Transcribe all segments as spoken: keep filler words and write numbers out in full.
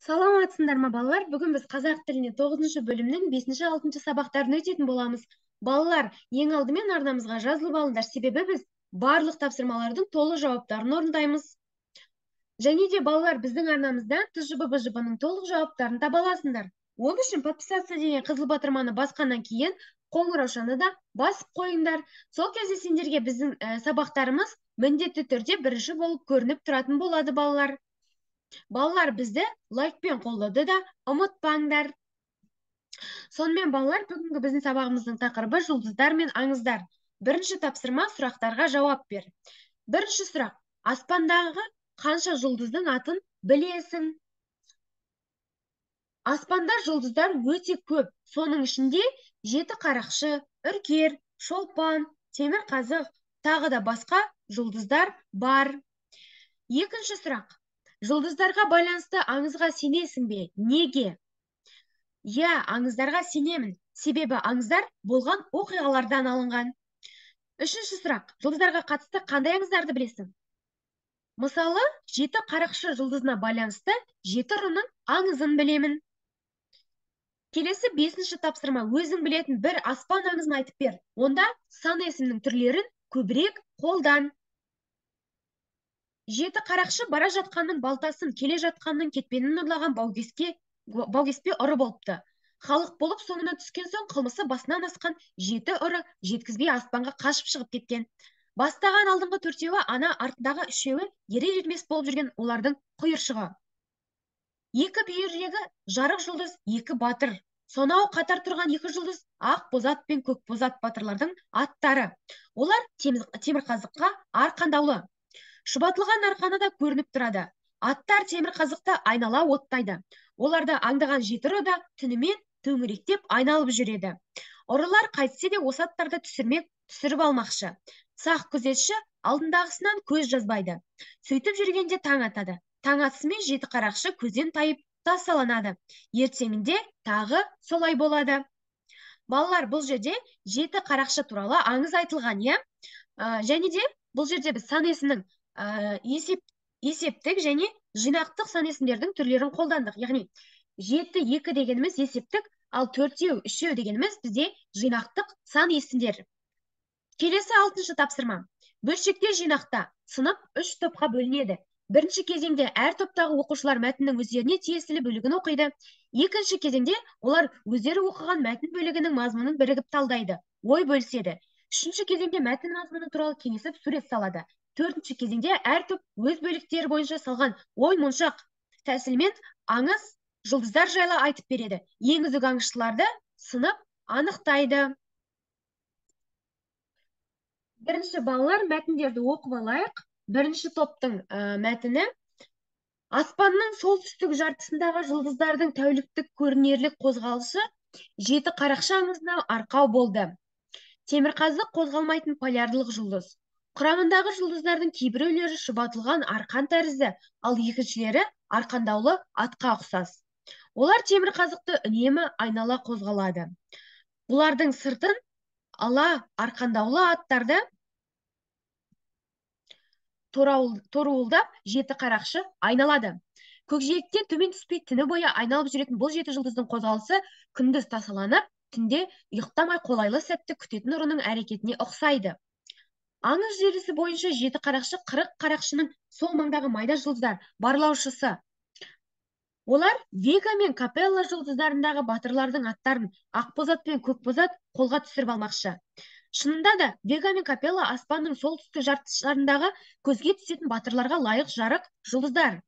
Саламатсыңдар ма, балалар? Бүгін біз қазақ тіліне тоғызыншы бөлімнің бесінші алтыншы сабақтарын өтетін боламыз. Балалар, ең алдымен арнамызға жазылып алыңдар, себебі біз барлық тапсырмалардың толық жауаптарын орындаймыз. Және де балалар, біздің арнамыздан тжб бжб-ның толық жауаптарын таба аласыңдар. Ол үшін подписаться деген қызыл батырманы басқаннан кейін қоңыраушаны да басып қойыңдар. Сол кезде сендерге біздің ә, сабақтарымыз міндетті түрде бірінші болып көрініп тұратын болады, балалар. Балалар, бізді лайкпен қолдауды да ұмытпаңдар. Сонымен балалар, бүгінгі біздің сабағымыздың тақырыбы жұлдыздар мен аңыздар. Бірінші тапсырма, сұрақтарға жауап бер. Бірінші сұрақ: аспандағы қанша жұлдыздың атын білесің? Аспанда жұлдыздар өте көп. Соның ішінде жеті қарақшы, үркер, шолпан, темірқазық, тағы да басқа жұлдыздар бар. Екінші сұрақ: жұлдыздарға байланысты аңызға сенесің бе? Неге? Я, аңыздарға сенемін, себебі аңыздар болған оқиғалардан алынған. Үшінші сұрақ: жұлдыздарға қатысты қандай аңыздарды білесің? Мысалы, жеті қарақшы жұлдызына байланысты жеті ұрының аңызын білемін. Келесі бесінші тапсырма: өзің білетін бір аспан аңызын айтып бер. Онда сан есімнің түрлерін көбірек қолдан. Жеті қарақшы бара жатқанның балтасын, келе жатқанның кетпенін ұрлаған баугеске баугеспе ұры болыпты. Халық болып соңына түскен соң қылмысы басынан асқан жеті ұры жеткізбей аспанға қашып шығып кеткен. Бастаған алдыңғы төртеуі ана, артындағы үшеуі ерер ермес болып жүрген олардың құйыршығы. Екі бүйірдегі жарық жұлдыз екі батыр. Сонау қатар тұрған екі жұлдыз ақ бозат пен көк бозат батырлардың аттары. Олар темірқазыққа арқандаулы. Шұбатылған арқаны да көрініп тұрады. Аттар темірқазықты айнала оттайды. Оларды аңдаған жеті ұры да түнімен төңіректеп айналып жүреді. Ұрылар қайтсе де осы аттарды түсірмек, түсіріп алмақшы. Сақ күзетші алдындағысынан көз жазбайды. Сөйтіп жүргенде таң атады. Таң атысымен жеті қарақшы көзден тайып тасаланады. Ертеңінде тағы солай болады. Балалар, бұл жерде жеті қарақшы туралы аңыз айтылған, иә? Және де бұл жерде біз сан есімнің есеп есептік және жинақтық сан есімдердің түрлерін қолдандық. Яғни жеті, екі дегеніміз есептік, ал төртеу, үшеу дегеніміз бізде жинақтық сан есімдер. Келесі алтыншы тапсырма. Бөлшектер жинақта сынып үш топқа бөлінеді. Бірінші кезеңде әр топтағы оқушылар мәтіннің өздеріне тиесілі бөлігін оқиды. Екінші кезеңде олар өздері оқыған мәтін бөлігінің мазмұнын бірігіп талдайды, ой бөліседі. Үшінші кезеңде мәтін мазмұны туралы кеңесіп сурет салады. Төртінші кезеңде әр топ өз бөліктері бойынша салған ой моншақ тәсілмен аңыз, жұлдыздар жайлы айтып береді. Ең үздік аңызшыларды сынып анықтайды. Бірінші балалар, мәтіндерді оқып алайық. Бірінші топтың мәтіні: аспанның солтүстік жартысындағы жұлдыздардың тәуліктік көрінерлік қозғалысы жеті қарақшы аңызына арқау болды. Темірқазық қозғалмайтын полярлық жұлдыз. Құрамындағы жұлдыздардың кейбіреулері шұбатылған арқан тәрізді, ал екіншілері арқандаулы атқа ұқсас. Олар темірқазықты үнемі айнала қозғалады. Бұлардың сыртын ала арқандаулы аттарды торуылдап жеті қарақшы айналады. Көкжиектен төмен түспей түні бойы айналып жүретін бұл жеті жұлдыздың қозғалысы күндіз тасаланып, түнде ұйықтамай қолайлы сәтті күтетін ұрының әрекетіне ұқсайды. Аңыз желісі бойынша жеті қарақшы қырық қарақшының сол маңдағы майда жұлдыздар барлаушысы. Олар Вега мен Капелла жұлдыздарындағы батырлардың аттарын ақбозат пен көкбозат қолға түсіріп алмақшы. Шынында да Вега мен Капелла аспанның солтүстік жартысындағы көзге түсетін батырларға лайық жарық жұлдыздар.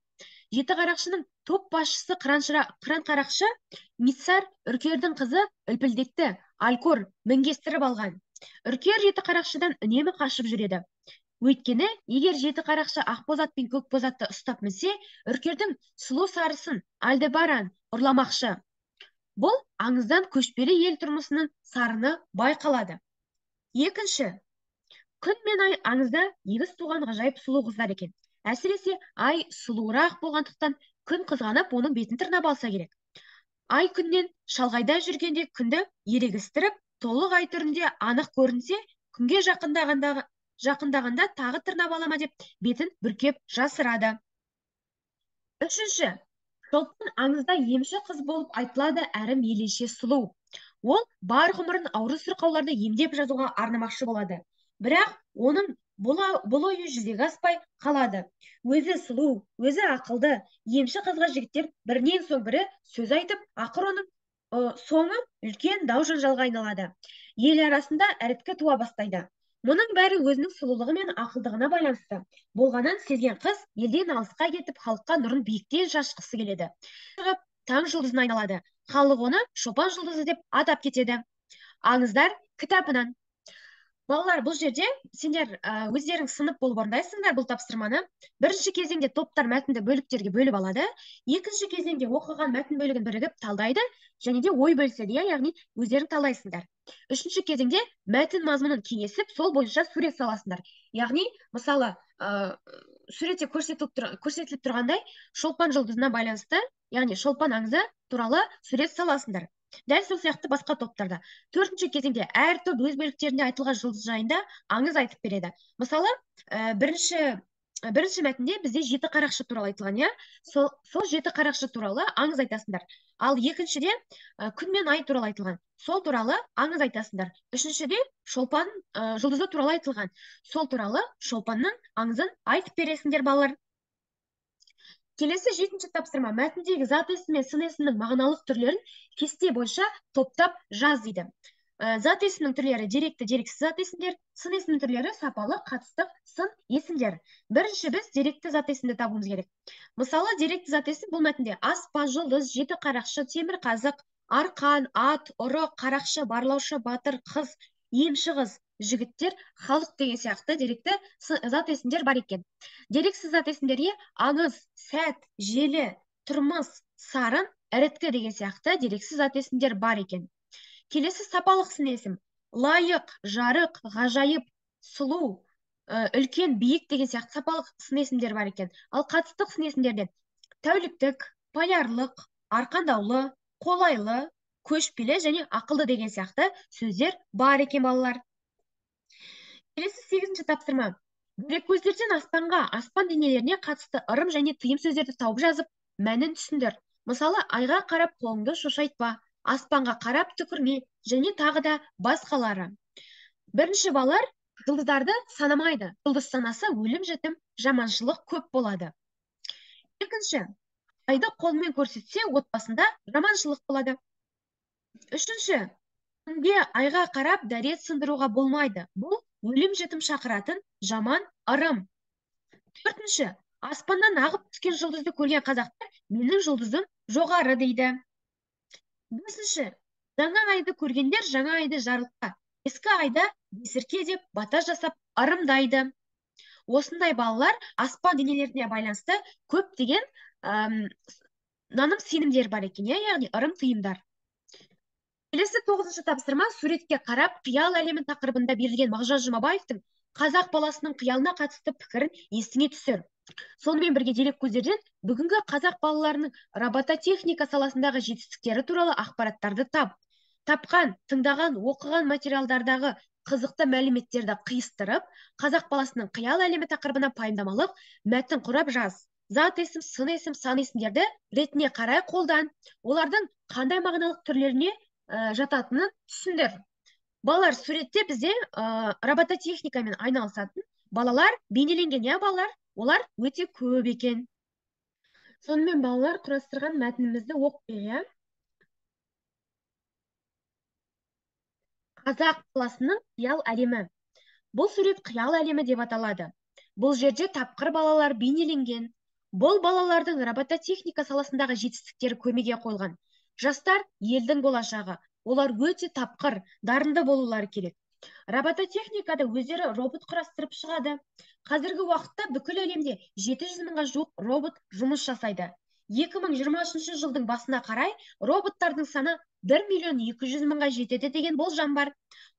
Жеті қарақшының топ басшысы қыран қарақшы Миссар үркердің қызы Үлпілдекті Алькор мінгестіріп алған. Үркер жеті қарақшыдан үнемі қашып жүреді. Өйткені, егер жеті қарақшы ақбозат пен көкбозатты ұстап мінсе, үркердің сұлу сарысын Альдебаран ұрламақшы. Бұл аңыздан көшпелі ел тұрмысының сарыны байқалады. Екінші, күн мен ай аңызда егіз туған ғажайып сұлу қыздар екен. Әсіресе ай сұлуырақ болғандықтан күн қызғанып, оның бетін тырнап алса керек. Ай күннен шалғайда жүргенде күнді ерегістіріп, толық ай түрінде анық көрінсе, күнге жақындағанда жақындағанда тағы тырнап алама деп бетін бүркеп жасырады. Үшінші, Шолпан аңызда емші қыз болып айтылады, әрі мейлінше сұлу. Ол бар ғұмырын ауру сырқауларды емдеп жазуға арнамақшы болады. Бірақ оның бұл ойы жүзеге аспай қалады. Өзі сұлу, өзі ақылды емші қызға жігіттер бірінен соң бірі сөз айтып, ақыр оның соңы үлкен дау жанжалға айналады. Ел арасында іріткі туа бастайды. Мұның бәрі өзінің сұлулығы мен ақылдығына байланысты болғанын сезген қыз елден алысқа кетіп, халыққа нұрын биіктен шашқысы келеді. Таң жұлдызына айналады. Халық оны шопан жұлдызы деп атап кетеді. Аңыздар кітабынан. Балалар, бұл жерде сендер өздерің сынып болып орындайсыңдар бұл тапсырманы. Бірінші кезеңде топтар мәтінді бөліктерге бөліп алады. Екінші кезеңде оқыған мәтін бөлігін бірігіп талдайды, және де ой бөліседі, яғни өздерің талдайсыңдар. Үшінші кезеңде мәтін мазмұнын кеңесіп, сол бойынша сурет саласыңдар. Яғни, мысалы, суретте көрсетіліп тұрғандай, шолпан жұлдызына байланысты, яғни шолпан аңызы туралы сурет саласыңдар. Дәл сол сияқты басқа топтарда. Төртінші кезеңде әр топ өз бөліктерінде айтылған жұлдыз жайында аңыз айтып береді. Мысалы, бірінші бірінші мәтінде бізде жеті қарақшы туралы айтылған, иә? Сол сол жеті қарақшы туралы аңыз айтасыңдар. Ал екіншіде күн мен ай туралы айтылған. Сол туралы аңыз айтасыңдар. Үшіншіде шолпан жұлдызы туралы айтылған. Сол туралы шолпанның аңызын айтып бересіңдер, балалар. Келесі жетінші тапсырма, мәтіндегі зат есім мен сын есімнің мағыналық түрлерін кесте бойынша топтап жаз дейді. Зат есімнің түрлері деректі, дерексіз зат есімдер, сын есімнің түрлері сапалы, қатыстық, сын есімдер. Бірінші біз деректі зат есімді табуымыз керек. Мысалы, деректі зат есім бұл мәтінде аспан, жұлдыз, жеті қарақшы, темір қазық, арқан, ат, ұры, қарақшы, барлаушы, батыр, қыз, емші қыз, жігіттер, халық деген сияқты деректі зат есімдер бар екен. Дерексіз зат есімдерге аңыз, сәт, желі, тұрмыс, сарын, іріткі деген сияқты дерексіз зат есімдер бар екен. Келесі сапалық сын есім. Лайық, жарық, ғажайып, сұлу, үлкен, биік деген сияқты сапалық сын есімдер бар екен. Ал қатыстық сын есімдерде тәуліктік, полярлық, арқандаулы, қолайлы, көшпелі және ақылды деген сияқты сөздер бар екен, балалар. Келесі сегізінші тапсырма. Дереккөздерден аспанға, аспан денелеріне қатысты ырым және тыйым сөздерді тауып жазып, мәнін түсіндір. Мысалы, айға қарап қолыңды шошайтпа, аспанға қарап түкірме және тағы да басқалары. Бірінші, балалар жұлдыздарды санамайды. Жұлдыз санасы өлім жітім, жаманшылық көп болады. Екінші, айды қолмен көрсетсе, отбасында жаманшылық болады. Үшінші, күнге айға қарап дәрет сындыруға болмайды. Бұл өлім жітім шақыратын жаман ырым. Төртінші, аспаннан ағып түскен жұлдызды көрген қазақтар менің жұлдызым жоғары дейді. Бесінші, жаңа айды көргендер жаңа айды жарылқа, ескі айда бесірке деп бата жасап ырымдайды. Осындай балалар аспан денелеріне байланысты көптеген наным сенімдер бар екен, яғни ырым тыйымдар. Келесі тоғызыншы тапсырма, суретке қарап қиял әлемін тақырыбында берілген Мағжан Жұмабаевтың қазақ баласының қиялына қатысты пікірін есіңе түсір. Сонымен бірге дереккөздерден бүгінгі қазақ балаларының робототехника саласындағы жетістіктері туралы ақпараттарды тап. Тапқан, тыңдаған, оқыған материалдардағы қызықты мәліметтерді қиыстырып, қазақ баласының қиял әлемі тақырыбына пайымдамалық мәтін құрап жаз. Зат есім, сын есім, сан есімдерді ретіне қарай қолдан, олардың қандай мағыналық түрлеріне жататынын түсіндір. Балалар, суретте бізде робототехникамен айналысатын балалар бейнеленген, я балалар, олар өте көп екен. Сонымен балалар құрастырған мәтінімізді оқып, қазақ баласының қиял әлемі. Бұл сурет қиял әлемі деп аталады. Бұл жерде тапқыр балалар бейнеленген. Бұл балалардың робототехника саласындағы жетістіктері көрмеге қойылған. Жастар елдің болашағы. Олар өте тапқыр, дарынды болулары керек. Робототехникада өздері робот құрастырып шығады. Қазіргі уақытта бүкіл әлемде жеті жүз мыңға жуық робот жұмыс жасайды. екі мың жиырмасыншы жылдың басына қарай роботтардың саны бір миллион екі жүз мыңға жетеді деген болжам бар.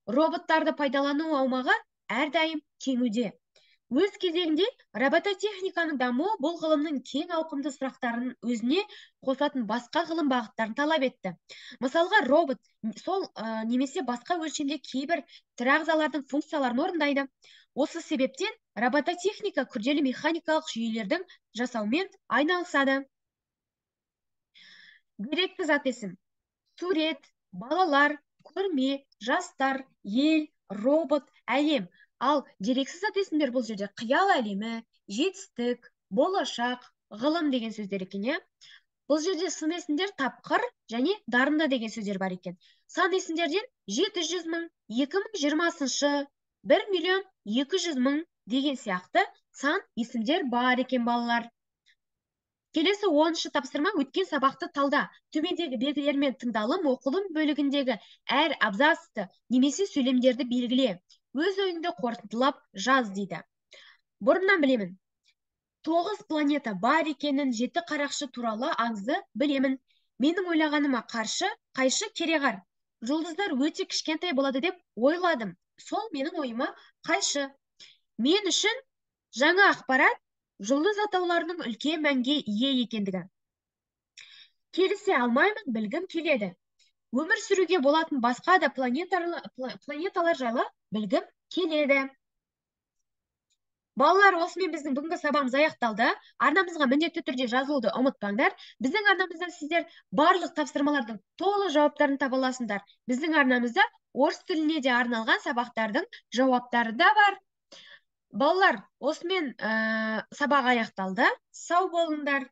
Роботтарды пайдалану аумағы әрдайым кеңуде. Өз кезегінде робототехниканың дамуы бұл ғылымның кең ауқымды сұрақтарын өзіне қосатын басқа ғылым бағыттарын талап етті. Мысалға, робот сол немесе басқа өлшемде кейбір тірі ағзалардың функцияларын орындайды. Осы себептен робототехника күрделі механикалық жүйелердің жасаумен айналысады. Деректі зат есім: сурет, балалар, көрме, жастар, ел, робот, әлем. Ал дерексіз зат есімдер бұл жерде қиял әлемі, жетістік, болашақ, ғылым деген сөздер екен, иә. Бұл жерде сын есімдер тапқыр және дарынды деген сөздер бар екен. Сан есімдерден жеті жүз мың, екі мың жиырмасыншы, бір миллион екі жүз мың деген сияқты сан есімдер бар екен, балалар. Келесі оныншы тапсырма: өткен сабақты талда. Төмендегі белгілермен тыңдалым, оқылым бөлігіндегі әр абзацты немесе сөйлемдерді белгіле. Өз ойыңды қорытындылап жаз дейді. Бұрыннан білемін. Тоғыз планета бар екенін, жеті қарақшы туралы аңызды білемін. Менің ойлағаныма қаршы, қайшы кереғар. Жұлдыздар өте кішкентай болады деп ойладым. Сол менің ойыма қайшы. Мен үшін жаңа ақпарат жұлдыз атауларының үлкен мәнге ие екендігі. Келісе алмаймын, білгім келеді. Өмір сүруге болатын басқа да планеталар жайлы білгім келеді. Балалар, осымен біздің бүгінгі сабағымыз аяқталды. Арнамызға міндетті түрде жазылуды ұмытпаңдар. Біздің арнамыздан сіздер барлық тапсырмалардың толық жауаптарын таба аласыңдар. Біздің арнамызда орыс тіліне де арналған сабақтардың жауаптары да бар. Балалар, осымен ә, сабақ аяқталды. Сау болыңдар.